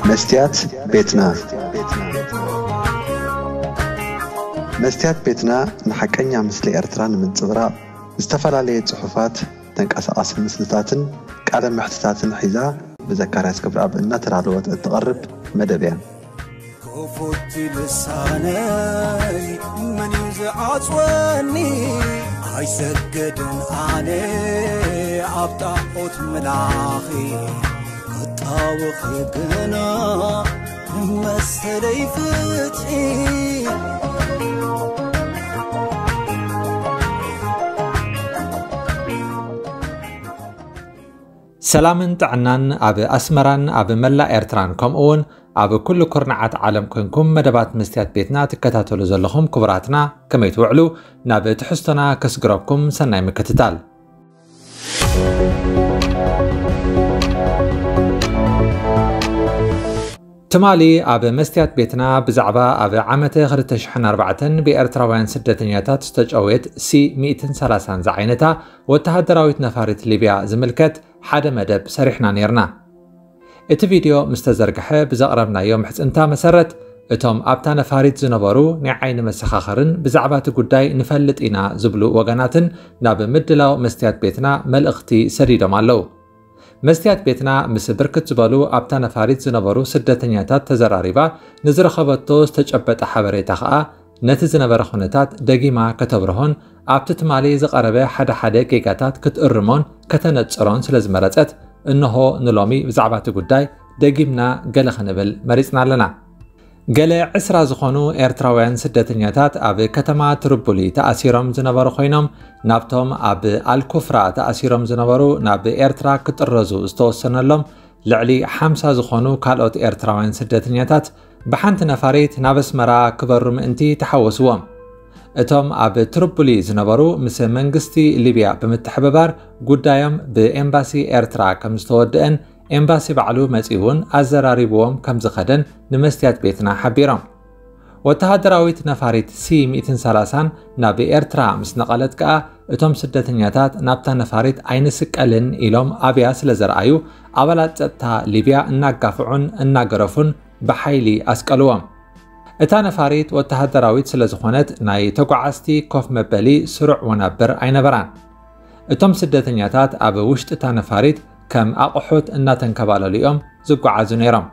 መስትያት ቤትና። መስትያት ቤትና ንሓቀኛ ምስሊ ኤርትራ ንምንጽብራቕ ዝተፈላለየ ጽሑፋት፣ ተንቀሳቓሲ ምስልታትን ቃለ መሕትታትን ሒዛ ብዘካርያስ ገብረኣብ እናተዳለወት እትቐርብ መደብ እያ። ክፉት ልሳነይ መን እዩ ዝዓጽወኒ? ኣይሰግድን ኣነ ኣብ ጣዖት ምላኺ፣ ክጣወኺ ግና መሰለይ ፍትሒ። ሰላምን ጥዕናን ኣብ ኣስመራን ኣብ መላእ ኤርትራን፣ ከምኡ እውን ኣብ ኩሉ ኩርናዓት ዓለም ኮንኩም መደባት መስትያት ቤትና ትከታተሉ ዘለኹም ክቡራትና፣ ከመይ ትውዕሉ? ናብ ትሕዝቶና ከስግረኩም፣ ሰናይ ምክትታል። ትማሊ ኣብ መስትያት ቤትና ብዛዕባ ኣብ ዓመተ ክልተ ሽሕን ኣርባዕተን ብኤርትራውያን ስደተኛታት ዝተጨወየት ሲ ሚእትን ሰላሳን ዝዓይነታ ወተሃደራዊት ነፋሪት ሊብያ ዝምልከት ሓደ መደብ ሰሪሕና ኔርና። እቲ ቪድዮ ምስ ተዘርግሐ ብዘቕረብናዮ ምሕጽንታ መሰረት፣ እቶም ኣብታ ነፋሪት ዝነበሩ ናይ ዓይኒ መሰኻኽርን ብዛዕባ እቲ ጉዳይ ንፈልጥ ኢና ዝብሉ ወገናትን ናብ ምድላው መስትያት ቤትና መልእኽቲ ሰዲዶም ኣለዉ። መስትያት ቤትና ምስ ብርክት ዝበሉ ኣብታ ነፋሪት ዝነበሩ ስደተኛታት ተዘራሪባ፣ ንዝረኸበቶ ዝተጨበጠ ሓበሬታ ከኣ ነቲ ዝነበረ ኩነታት ደጊማ ከተብርሆን ኣብቲ ትማሊ ዝቐረበ ሓደ ሓደ ጌጋታት ክትእርሞን ከተነጽሮን ስለ ዝመረጸት፣ እንሆ ንሎሚ ብዛዕባ እቲ ጉዳይ ደጊምና ገለ ክንብል መሪጽና ኣለና። ገለ ዕስራ ዝኾኑ ኤርትራውያን ስደተኛታት ኣብ ከተማ ትርቡሊ ተኣሲሮም ዝነበሩ ኮይኖም፣ ናብቶም ኣብ ኣልኩፍራ ተኣሲሮም ዝነበሩ ናብ ኤርትራ ክጥረዙ ዝተወሰነሎም ልዕሊ ሓምሳ ዝኾኑ ካልኦት ኤርትራውያን ስደተኛታት ብሓንቲ ነፋሪት ናብ ኣስመራ ክበሩ ምእንቲ ተሓወስዎም። እቶም ኣብ ትርቡሊ ዝነበሩ ምስ መንግስቲ ሊብያ ብምትሕብባር ጉዳዮም ብኤምባሲ ኤርትራ ከም ዝተወደአን ኤምባሲ ባዕሉ መጺኡ እውን ኣዘራሪብዎም ከም ዝኸደን ንመስትያት ቤትና ሓቢሮም። ወተሃደራዊት ነፋሪት ሲ ሚእትን ሰላሳን ናብ ኤርትራ ምስ ነቐለት ከኣ፣ እቶም ስደተኛታት ናብታ ነፋሪት ኣይንስቀልን ኢሎም ኣብያ ስለ ዘርኣዩ፣ ኣባላት ጸጥታ ሊብያ እናጋፍዑን እናገረፉን ብሓይሊ ኣስቀልዎም። እታ ነፋሪት ወተሃደራዊት ስለ ዝኾነት፣ ናይ ተጓዓዝቲ ኮፍ መበሊ ስሩዕ ወናብር ኣይነበራን። እቶም ስደተኛታት ኣብ ውሽጢ እታ ነፋሪት ከም ኣቕሑት እናተንከባለሉ እዮም ዝጓዓዙ ነይሮም።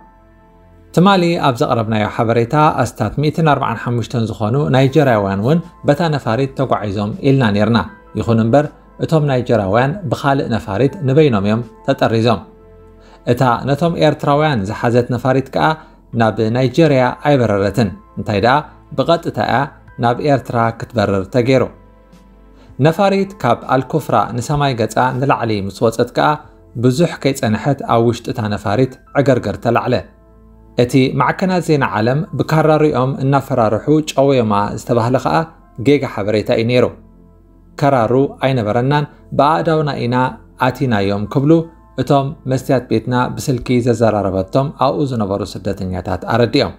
ትማሊ ኣብ ዘቕረብናዮ ሓበሬታ፣ ኣስታት ሚእትን ኣርባዓን ሓሙሽተን ዝኾኑ ናይጀርያውያን እውን በታ ነፋሪት ተጓዒዞም ኢልና ኔርና። ይኹን እምበር፣ እቶም ናይጀርያውያን ብኻልእ ነፋሪት ንበይኖም እዮም ተጠሪዞም። እታ ነቶም ኤርትራውያን ዝሓዘት ነፋሪት ከኣ ናብ ናይጀርያ ኣይበረረትን። እንታይ ደኣ፣ ብቐጥታ እያ ናብ ኤርትራ ክትበርር ተገይሩ። ነፋሪት ካብ ኣልኩፍራ ንሰማይ ገጻ ንላዕሊ ምስ ወጸት ከኣ፣ ብዙሕ ከይጸንሐት ኣብ ውሽጢ እታ ነፋሪት ዕገርገር ተላዕለ። እቲ ማዕከናት ዜና ዓለም ብካራሪኦም እናፈራርሑ ጨወዮማ ዝተባህለ ከኣ ጌጋ ሓበሬታ እዩ ነይሩ። ከራሩ ኣይነበረናን፣ ብኣእዳውና ኢና ኣቲናዮም ክብሉ እቶም መስትያት ቤትና ብስልኪ ዘዘራረበቶም ኣብኡ ዝነበሩ ስደተኛታት ኣረዲኦም።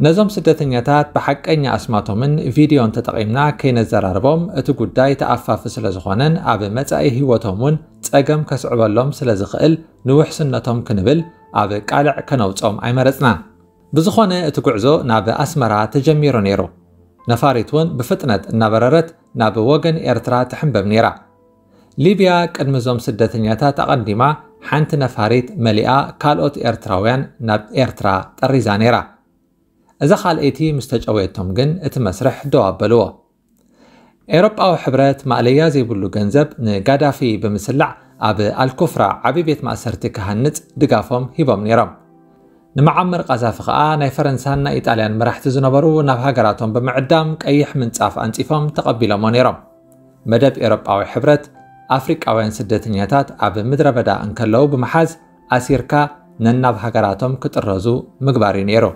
ነዞም ስደተኛታት ብሓቀኛ ኣስማቶምን ቪድዮን ተጠቒምና ከይነዘራርቦም፣ እቲ ጉዳይ ተኣፋፊ ስለ ዝኾነን ኣብ መጻኢ ህይወቶም እውን ጸገም ከስዕበሎም ስለ ዝኽእል፣ ንውሕስነቶም ክንብል ኣብ ቃልዕ ከነውጾም ኣይመረጽናን። ብዝኾነ፣ እቲ ጉዕዞ ናብ ኣስመራ ተጀሚሩ ነይሩ። ነፋሪት እውን ብፍጥነት እናበረረት ናብ ወገን ኤርትራ ትሕንበብ ነይራ። ሊብያ ቅድሚ እዞም ስደተኛታት ኣቐዲማ ሓንቲ ነፋሪት መሊኣ ካልኦት ኤርትራውያን ናብ ኤርትራ ጠሪዛ ነይራ። እዛ ካልኣይቲ ምስ ተጨወየቶም ግን እቲ መስርሕ ደው ኣበልዎ። ኤውሮጳዊ ሕብረት ማእለያ ዘይብሉ ገንዘብ ንጋዳፊ ብምስላዕ ኣብ ኣልኩፍራ ዓቢ ቤት ማእሰርቲ ክሃንጽ ድጋፎም ሂቦም ነይሮም። ንመዓመር ቃዛፊ ከኣ ናይ ፈረንሳን ናይ ኢጣልያን መራሕቲ ዝነበሩ ናብ ሃገራቶም ብምዕዳም ቀይሕ ምንጻፍ ኣንጺፎም ተቐቢሎሞ ነይሮም። መደብ ኤውሮጳዊ ሕብረት ኣፍሪቃውያን ስደተኛታት ኣብ ምድረ በዳ እንከለዉ ብምሓዝ ኣሲርካ ነናብ ሃገራቶም ክጥረዙ ምግባር እዩ ነይሩ።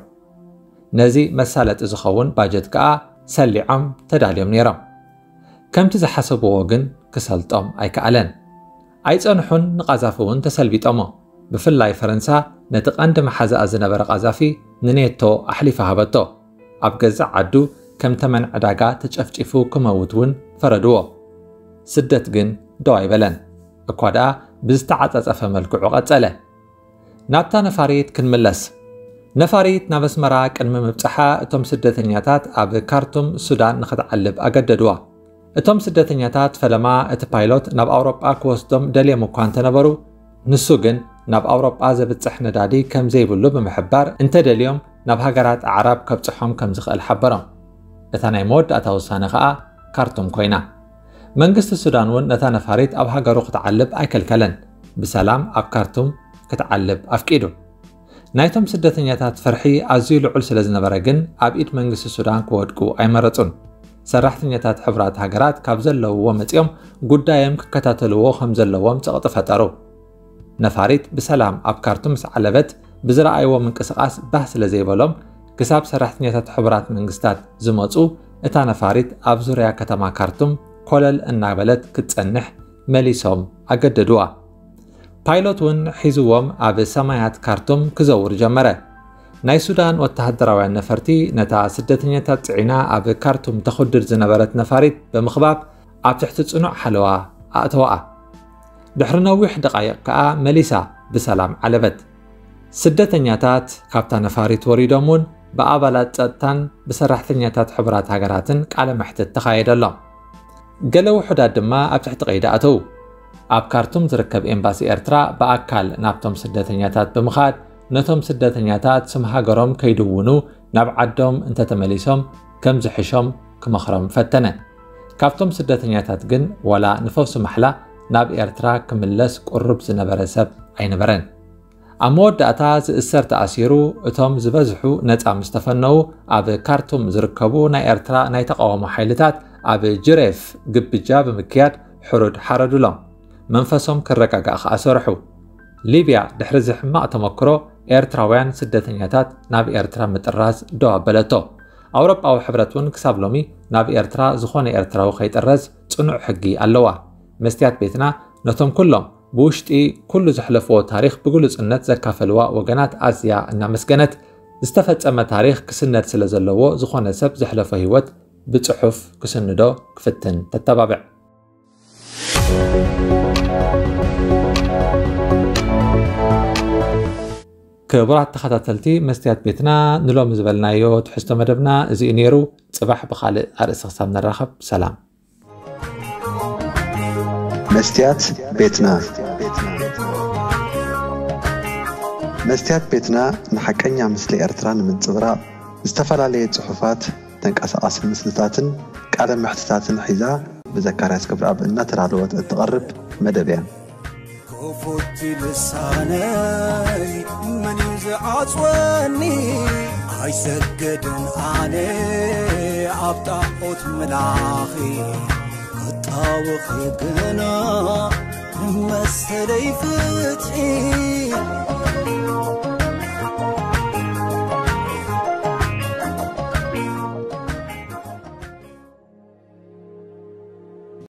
ነዚ መሳለጢ ዝኸውን ባጀት ከኣ ሰሊዖም ተዳልዮም ነይሮም። ከምቲ ዝሓሰብዎ ግን ክሰልጦም ኣይከኣለን። ኣይጸንሑን፣ ንቃዛፊ እውን ተሰልቢጦሞ። ብፍላይ ፈረንሳ ነቲ ቀንዲ መሓዛኣ ዝነበረ ቃዛፊ ንኔቶ ኣሕሊፋ ሃበቶ። ኣብ ገዛእ ዓዱ ከም ተመን ዕዳጋ ተጨፍጪፉ ክመውት እውን ፈረድዎ። ስደት ግን ደው ኣይበለን። እኳ ደኣ ብዝተዓጻጸፈ መልክዑ ቀጸለ። ናብታ ነፋሪት ክንምለስ። ነፋሪት ናብ ኣስመራ ቅድሚ ምብጻሓ እቶም ስደተኛታት ኣብ ካርቱም ሱዳን ንኽትዓልብ ኣገደድዋ። እቶም ስደተኛታት ፈለማ እቲ ፓይሎት ናብ ኣውሮጳ ክወስዶም ደልዮም እኳ እንተነበሩ፣ ንሱ ግን ናብ ኣውሮጳ ዘብጽሕ ነዳዲ ከም ዘይብሉ ብምሕባር፣ እንተደልዮም ናብ ሃገራት ኣዕራብ ከብጽሖም ከም ዝኽእል ሓበሮም። እታ ናይ መወዳእታ ውሳነ ከኣ ካርቱም ኮይና። መንግስቲ ሱዳን እውን ነታ ነፋሪት ኣብ ሃገሩ ክትዓልብ ኣይከልከለን። ብሰላም ኣብ ካርቱም ክትዓልብ ኣፍቂዱ። ናይቶም ስደተኛታት ፍርሒ ኣዝዩ ልዑል ስለ ዝነበረ ግን ኣብ ኢድ መንግስቲ ሱዳን ክወድቁ ኣይመረጹን። ሰራሕተኛታት ሕቡራት ሃገራት ካብ ዘለውዎ መጺኦም ጉዳዮም ክከታተልዎ ከም ዘለዎም ጸቕጢ ፈጠሩ። ነፋሪት ብሰላም ኣብ ካርቱም ምስ ዓለበት ብዝረኣይዎ ምንቅስቓስ ባህ ስለ ዘይበሎም ክሳብ ሰራሕተኛታት ሕቡራት መንግስታት ዝመጹ እታ ነፋሪት ኣብ ዙርያ ከተማ ካርቱም ኮለል እናበለት ክትጸንሕ መሊሶም ኣገደድዋ። ፓይሎት እውን ሒዝዎም ኣብ ሰማያት ካርቱም ክዘውር ጀመረ። ናይ ሱዳን ወተሃደራውያን ነፈርቲ ነታ ስደተኛታት ጽዒና ኣብ ካርቱም ተኹድድ ዝነበረት ነፋሪት ብምኽባብ ኣብ ትሕቲ ጽኑዕ ሓለዋ ኣእተዋኣ። ድሕሪ ነዊሕ ደቓይቕ ከኣ መሊሳ ብሰላም ዓለበት። ስደተኛታት ካብታ ነፋሪት ወሪዶም እውን ብኣባላት ጸጥታን ብሰራሕተኛታት ሕቡራት ሃገራትን ቃለ መሕትት ተኻየደሎም። ገለ ውሑዳት ድማ ኣብ ትሕቲ ቀይዲ ኣተዉ። ኣብ ካርቱም ዝርከብ ኤምባሲ ኤርትራ ብኣካል ናብቶም ስደተኛታት ብምኻድ ነቶም ስደተኛታት ስም ሃገሮም ከይድውኑ ናብ ዓዶም እንተተመሊሶም ከም ዝሕሾም ክመኽሮም ፈተነ። ካብቶም ስደተኛታት ግን ዋላ ንፈውሲ ማሕላ ናብ ኤርትራ ክምለስ ቅሩብ ዝነበረ ሰብ ኣይነበረን። ኣብ መወዳእታ ዝእሰር ተኣሲሩ፣ እቶም ዝበዝሑ ነጻ ምስ ተፈነዉ፣ ኣብ ካርቱም ዝርከቡ ናይ ኤርትራ ናይ ተቓውሞ ሓይልታት ኣብ ጅሬፍ ግብጃ ብምክያድ ሕሩድ ሓረዱሎም። መንፈሶም ክረጋጋእ ከኣ ሰርሑ። ሊብያ ድሕሪ እዚ ሕማቕ ተመክሮ ኤርትራውያን ስደተኛታት ናብ ኤርትራ ምጥራዝ ደው ኣበለቶ። ኣውሮጳዊ ሕብረት እውን ክሳብ ሎሚ ናብ ኤርትራ ዝኾነ ኤርትራዊ ከይጥረዝ ጽኑዕ ሕጊ ኣለዋ። መስትያት ቤትና ነቶም ኩሎም ብውሽጢ ኩሉ ዘሕለፍዎ ታሪኽ ብግሉጽነት ዘካፈልዋ ወገናት ኣዝያ እናመስገነት፣ ዝተፈጸመ ታሪኽ ክስነድ ስለ ዘለዎ ዝኾነ ሰብ ዘሕለፎ ህይወት ብጽሑፍ ክስንዶ ክፍትን ተተባብዕ። ክቡራት ተኸታተልቲ መስትያት ቤትና፣ ንሎሚ ዝበልናዮ ትሕዝቶ መደብና እዚ እዩ ነይሩ። ጽባሕ ብኻልእ ኣርእስቲ ክሳብ ንራኸብ፣ ሰላም። መስትያት ቤትና። መስትያት ቤትና ንሓቀኛ ምስሊ ኤርትራ ንምንጽብራቕ ዝተፈላለየ ጽሑፋት፣ ተንቀሳቓሲ ምስልታትን ቃለ መሕትታትን ሒዛ ብዘካርያስ ክብረኣብ እናተዳለወት እትቐርብ መደብ እያ። ክፉት ልሳነይ መን እዩ ዝዓጽወኒ? ኣይሰግድን ኣነ ኣብ ጣዖት ምላኺ ክጣወኺ ግና ንመሰለይ ፍትሒ